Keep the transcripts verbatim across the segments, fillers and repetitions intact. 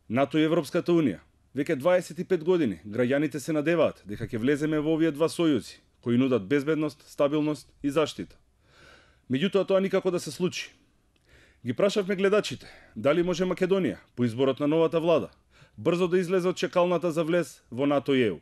НАТО и Европската Унија. Веќе дваесет и пет години граѓаните се надеваат дека ќе влеземе во овие два сојузи, кои нудат безбедност, стабилност и заштита. Меѓутоа тоа никако да се случи. Ги прашавме гледачите дали може Македонија, по изборот на новата влада, брзо да излезе од чекалната за влез во НАТО и Е У.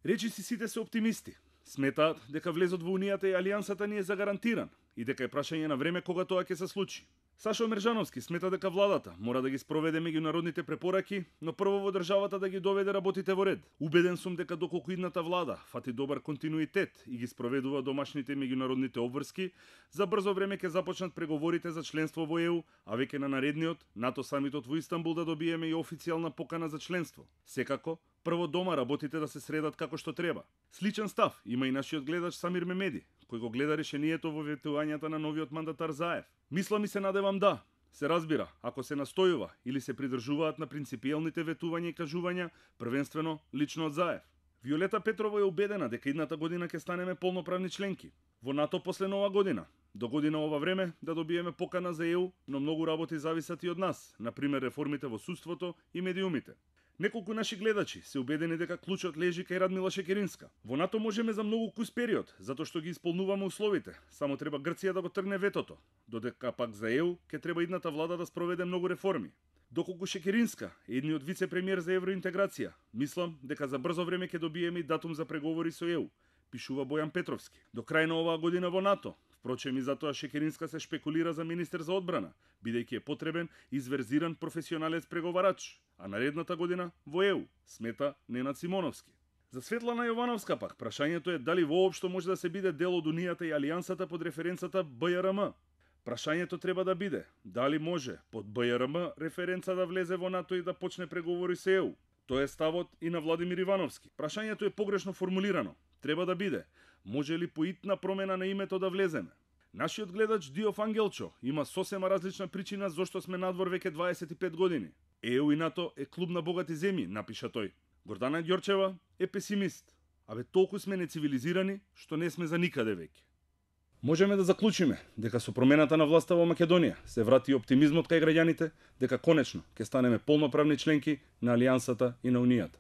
Речиси сите се оптимисти. Сметаат дека влезот во Унијата и Алијансата ни е загарантиран и дека е прашање на време кога тоа ќе се случи. Сашо Мержановски смета дека владата мора да ги спроведе меѓународните препораки, но прво во државата да ги доведе работите во ред. Убеден сум дека доколку идната влада фати добар континуитет и ги спроведува домашните меѓународните обврски, за брзо време ќе започнат преговорите за членство во Е У, а веќе на наредниот НАТО самитот во Истанбул да добиеме и официјална покана за членство. Секако, прво дома работите да се средат како што треба. Сличен став има и нашиот гледач Самир Мемеди, кој го гледа решението во ветувањата на новиот мандатар Заев. Мислам и се надевам да, се разбира, ако се настојува или се придржуваат на принципиелните ветувања и кажувања, првенствено лично од Заев. Виолета Петрова е убедена дека идната година ќе станеме полноправни членки. Во НАТО после нова година. До година ова време да добиеме покана за Е У, но многу работи зависат и од нас, например реформите во судството и медиумите. Неколку наши гледачи се убедени дека клучот лежи кај Радмила Шекеринска. Во НАТО можеме за многу кус период, затоа што ги исполнуваме условите. Само треба Грција да го тргне ветото, додека пак за Е У ќе треба идната влада да спроведе многу реформи. Доколку Шекеринска е едниот вице-премиер за евроинтеграција, мислам дека за брзо време ќе добиеме и датум за преговори со Е У, пишува Бојан Петровски. До крај на оваа година во НАТО. Впрочем, и затоа Шекеринска се шпекулира за министер за одбрана, бидејќи е потребен изверзиран професионалец преговарач, а наредната година во Е У, смета Ненад Симоновски. За Светлана Јовановска пак, прашањето е дали воопшто може да се биде дел од Унијата и Алијансата под референцата Б Ј Р М. Прашањето треба да биде дали може под Б Ј Р М референца да влезе во НАТО и да почне преговори со Е У. Тоа е ставот и на Владимир Ивановски. Прашањето е погрешно формулирано. Треба да биде може ли поитна промена на името да влеземе. Нашиот гледач Диов Ангелчо има сосема различна причина зошто сме надвор веќе дваесет и пет години. Е У и НАТО е клуб на богати земји, напиша тој. Гордана Ѓорчева е песимист. Абе толку сме нецивилизирани што не сме за никаде веќе. Можеме да заклучиме дека со промената на власта во Македонија се врати оптимизмот кај граѓаните дека конечно ќе станеме полноправни членки на Алијансата и на Унијата.